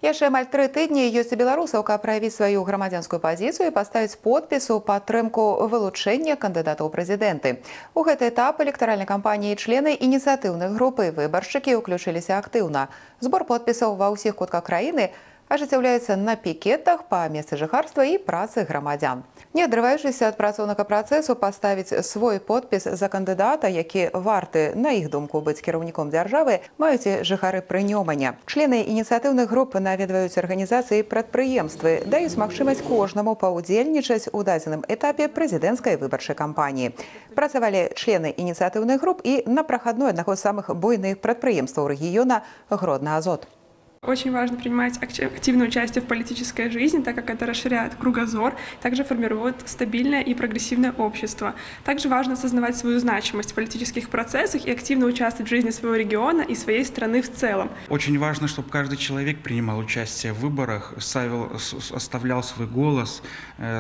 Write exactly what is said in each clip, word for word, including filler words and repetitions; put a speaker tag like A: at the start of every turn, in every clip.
A: Яшчэ амаль тры тыдні ёсць у беларусаў, каб праявіць сваю грамадзянскую пазіцыю і паставіць подпіс у падтрымку вылучэння кандыдатаў у прэзідэнты. У гэты этап электаральнай кампаніі члены ініцыятыўных груп і выбаршчыкі ўключыліся актыўна. Збор подпісаў ва ўсіх кутках краіны ажыццяўляецца на пікетах па месцы жыхарства і працы грамадзян. Не адрываючыся ад працоўнага працэсу, паставіць свой подпіс за кандыдата, які варты, на іх думку, быць кіраўніком дзяржавы, маюць і жыхары Прынёманя. Члены ініцыятыўных груп наведваюць арганізацыі і прадпрыемствы, даюць магчымасць кожнаму паўдзельнічаць у дадзеным этапе прэзідэнцкай выбарчай кампаніі. Працавалі члены ініцыятыўных груп і на прахадной аднаго з самых буйных прадпрыемстваў рэгіёна «Гродно-Азот».
B: Очень важно принимать активное участие в политической жизни, так как это расширяет кругозор, также формирует стабильное и прогрессивное общество. Также важно осознавать свою значимость в политических процессах и активно участвовать в жизни своего региона и своей страны в целом.
C: Очень важно, чтобы каждый человек принимал участие в выборах, ставил, оставлял свой голос,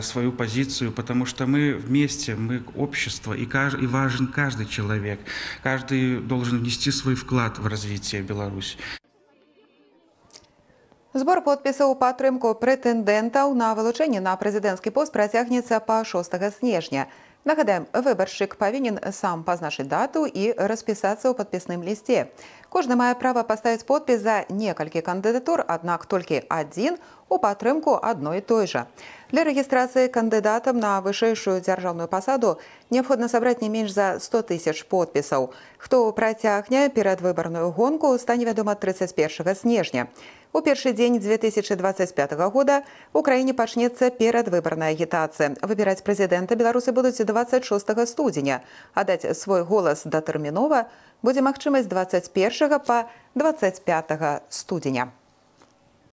C: свою позицию, потому что мы вместе, мы общество, и, каждый, и важен каждый человек. Каждый должен внести свой вклад в развитие Беларуси.
A: Збор подпісаў у падтрымку прэтэндэнтаў на вылучэнне на прэзідэнцкі пост працягнецца па шостага снежня. Нагадаем, выбаршчык павінен сам пазначыць дату і распісацца ў падпісным лісце. Кожны мае права паставіць подпіс за некалькі кандыдатур, аднак толькі адзін у падтрымку адной і той жа. Для рэгістрацыі кандыдатам на вышэйшую дзяржаўную пасаду неабходна сабраць не менш за сто тысяч подпісаў. Хто працягне перадвыбарную гонку, стане вядома трыццаць першага снежня. У першы дзень дзве тысячы дваццаць пятага года ў краіне пачнецца перадвыбарная агітацыя. Выбіраць прэзідэнта беларусы будуць дваццаць шостага студзеня. А даць свой голас датэрмінова будзе магчымасць дваццаць першага па дваццаць пятага студзеня.